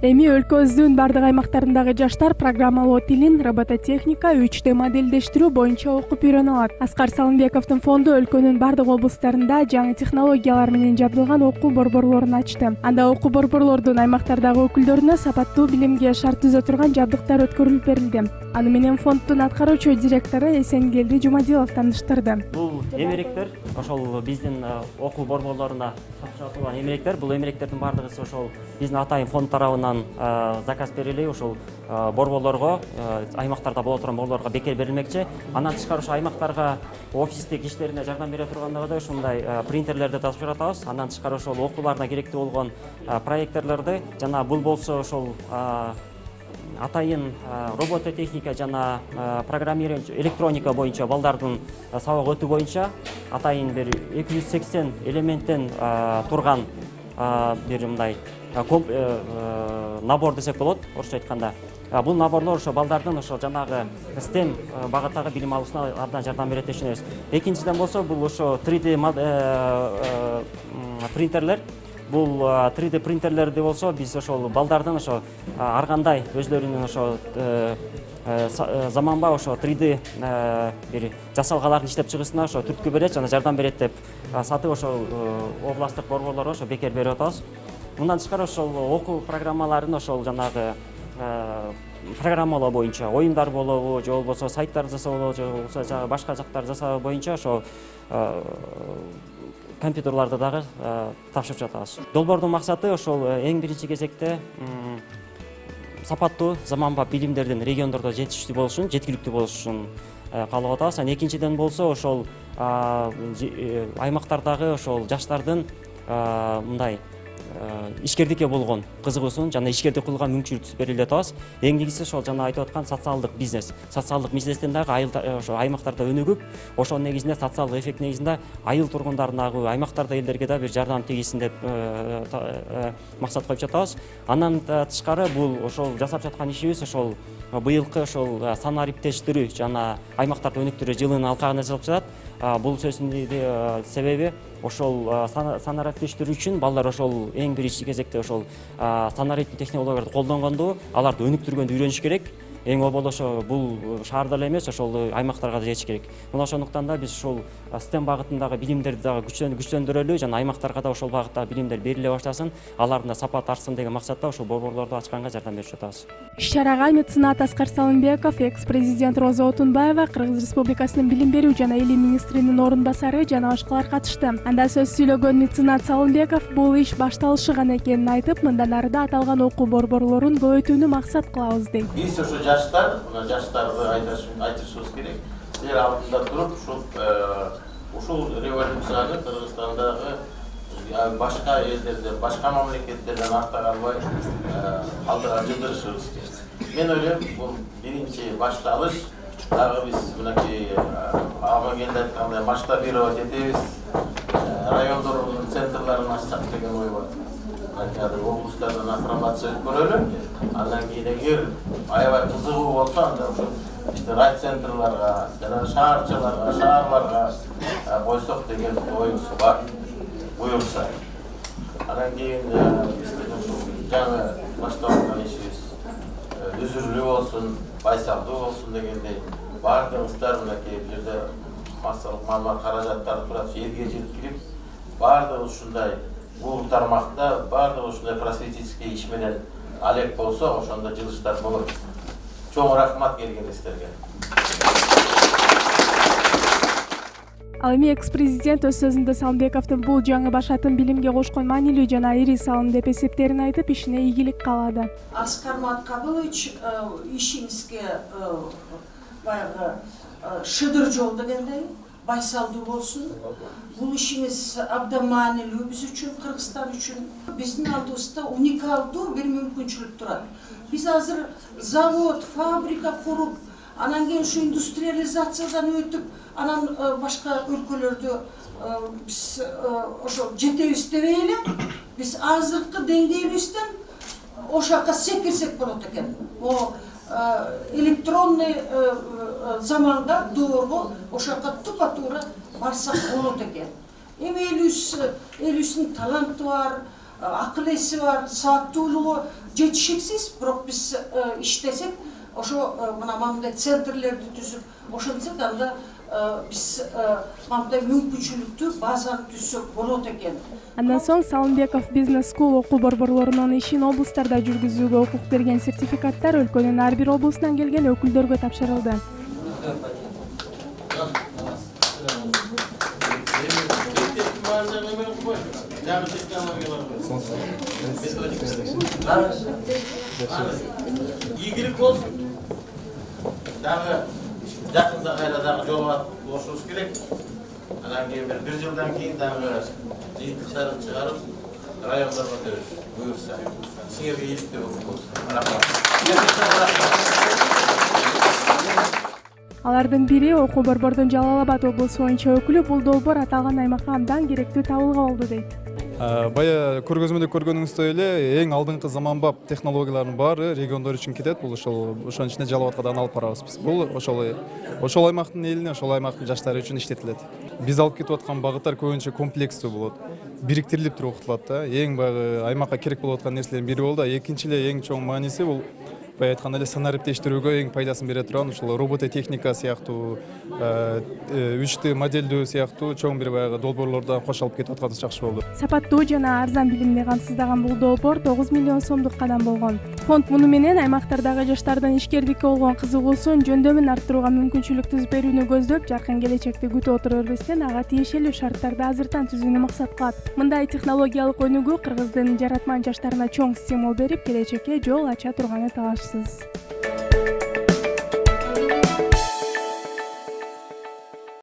Эми өлкөбүздүн бардык аймактарындагы жаштар программалоо тилин, робототехника, 3D модельдештирүү боюнча окуп үйрөнө алат. Аскар Салымбековдун фонду өлкөнүн бардык облустарында жаңы технологиялар менен жабдылган окуу борборлорун ачты. Анда окуу борборлордун аймактардагы өкүлдөрүнө сапаттуу билимге шарт түзө турган жабдыктар өткөрүлүп берилди. Аны менен фонддун аткаруучу директору Эсенгелди Жумадилов таныштырды. Бул эмеректер ошол биздин окуу борборлоруна сатылган эмеректер. Бул эмеректердин бардыгы ошол биздин атайын фонд тарабынан заказ берилип, ошол борборлорго, аймактарда боло турган борборлорго бекер берилмекчи. Андан тышкары ошо аймактарга офистик иштерине жардам бере тургандыгы ушундай принтерлерди тасып жатабыз. Андан тышкары ошол окууларына керектүү болгон проекторлорду жана бул болсо ошол атайын робототехника жана программирование, электроника боюнча балдардын сабак өтүү боюнча атайын бир 280 элементтен турган бир мындай набор десек болот, орусча айтканда. Бул наборлор ошо балдардын ошо жанагы STEM багыттагы билим алуусуна абдан жардам берет деп түшүнөбүз. Экинчиден болсо бул ошо 3D принтерлер. Бул 3D принтерлерди болсо биз ошол балдардын ошо ар кандай өзлөрүнүн ошо заманбап ошо 3D бир жасалгаларын иштеп чыгышына ошо түрткү берет жана жардам берет деп сатып ошол областтык борборлорго ошо бекер берип атабыз. Мындан тышкары ошол окуу программаларын ошол жанагы программалоо боюнча оюндар болобу, же болбосо сайттар жасоо болобу, же болбосо башка жактар жасоо боюнча ошо компьютерларды дагы тапшырып жатабыз. Долбоордун максаты ошол эң биринчи кезекте сапаттуу заманбап билимдердин региондордо жетиштүү болушун, жеткиликтүү болушун каалап атабыз. Экинчиден болсо ошол аймактардагы ошол жаштардын мындай ишкердикке болгон кызыгуусун жана ишкердик кылууга мүмкүнчүлүк берилип атабыз. Эң негизгиси ошол жана айтып аткан социалдык бизнес. Социалдык бизнестен дагы ошо аймактарда өнүгүп, ошонун негизинде социалдык эффект негизинде айыл тургундарына, аймактарда элдерге да бир жардам тийгизсин деп максат коюп жатабыз. Андан тышкары бул ошол жасап жаткан ишибиз ошол быйылкы ошол санариптештирүү жана аймактарды өнүктүрүү жылынын алкагында жасалып жатат. Бул сөзүнүн себеби ошол санариптештирүү үчүн балдар ошол эң биринчи кезекте ошол санариптик технологияларды колдонгонду, аларды өнүктүргөндү үйрөнүш керек. Эң обол ошо бул шаарда эле эмес, ошол аймактарга да жетиш керек. Мына ошондуктан да биз ушул STEM багытындагы билимдерди дагы күчтөндүрөлү жана аймактарга да ошол багыттагы билимдер бериле баштасын, алардын да сапаты артсын деген максатта ошол борборлорду ачканга жардам берип жатабыз. Иш-чарага меценат Аскар Салымбеков, экс-президент Роза Отунбаева, Кыргыз Республикасынын билим берүү жана элим министринин орун басары жана башкалар катышты. Анда сөз сүйлөгөн меценат Салымбеков бул иш башталышы гана экенин айтып, мындан ары да аталган окуу борборлорун көбөйтүүнү максат кылабыз дейт. Биз ошо жаштар, мына жаштарды айтышыбыз керек. Силер алдында туруп, ушул революцияны Кыргызстандагы башка элдерден, башка мамлекеттерден арта калбай алдыга жылдырышыбыз керек. Мен ойлойм, бул биринчи башталыш. Дагы биз мынакей Амангелди айткандай масштабировать этебиз, райондордун центрларын ачсак деген ой бар. Азыр облустардан апробация өткөрөлү. Андан кийин эгер аябай кызыгуу болсо, анда ошо райцентрларга жана шаарчыларга, шаарларга койсок деген оюбуз бар. Буюрса. Андан кийин биздин ушул жаңы баштап аткан ишибиз үзүрлүү болсун, байсалдуу болсун дегендей баардыгыбыздар мынакей бул жерде массалык маалымат каражаттары турат, элге жеткирип, баардыгы ушундай бул тармакта баардыгы ушундай просветительский иш менен алек болсо, ошондо жылыштар болот. Чоң рахмат келгениңиздерге. Ал эми экс-президент өз сөзүндө Салымбековдун бул жаңы башатын билимге кошкон маанилүү жана ири салым деп эсептерин айтып, ишине ийгилик каалады. Аскар Маткабылович, ишиңизге баягы шыдыр жол дегендей, байсалдуу болсун. Бул ишиңиз абдан маанилүү биз үчүн, Кыргызстан үчүн. Биздин алдыбызда уникалдуу бир мүмкүнчүлүк турат. Биз азыр завод, фабрика куруп, анан кийин ушу индустриализациядан өтүп, анан башка өлкөлөрдө биз ошо жетебиз дебей эле, биз азыркы деңгээлибизден ошака секирсек болот экен. Электронный заманга, доорго ошака тупа-туура барсак болот экен. Эми элибиздин таланты бар, акыл эси бар, сааттуулугу жетишиксиз, бирок биз иштесек, ошо мына мындай центрлерди түзүп, ошентсек анда биз мындай мүмкүнчүлүктүү базаны түзсөк болот экен. Андан соң Салымбеков Business School окуу борборлорунун ишин облустарда жүргүзүүгө укук берген сертификаттар өлкөнүн ар бир облусунан келген өкүлдөргө тапшырылды. Ийгилик болсун. Дагы жакында кайра дагы жолуга кошулуш керек. Анан кийин бир жылдан кийин дагы жыйынтыктарын чыгарып райондорго өтөбүз. Буюрса, силерге ийгиликтүү болсун. Рахмат. Алардын бири окуу борбордун Жалал Абад облусу боюнча өкүлү. Бул долбоор аталган аймакка абдан керектүү табылга болду дейт. Бая көргөзмөдө көргөнүңүздөй эле эң алдыңкы заманбап технологиялардын баары региондор үчүн кетет. Бул ошонун ичинде Жалал Абадка да алып барабыз биз. Бул ошол аймактын элине, ошол аймактын жаштары үчүн иштетилет. Биз алып кетип аткан багыттар көбүнчө комплекстүү болот. Бириктирилип туруп окутулат да. Эң баягы аймакка керек болуп аткан нерселердин бири болду. Экинчи эле эң чоң мааниси бул бая айтканда эле санариптештирүүгө эң пайдасын бере турган ушул робототехника сыяктуу 3D модельдөө сыяктуу чоң бир баягы долбоорлордон кош алып кетип атканыбыз жакшы болду. Сапаттуу жана арзан билимди камсыздаган бул долбоор 9 миллион сомдук кадам болгон. Фонд муну менен аймактардагы жаштардын ишкердикке болгон кызыгуусун жөндөмүн арттырууга мүмкүнчүлүк түзүп берүүнү көздөп, жакын келечекти күтүп отура бербестен ага тиешелүү шарттарды азыртан түзүүнү максат кылат. Мындай технологиялык өнүгүү Кыргыздын жаратман жаштарына чоң стимул берип, келечекке жол ача турганы талашсыз.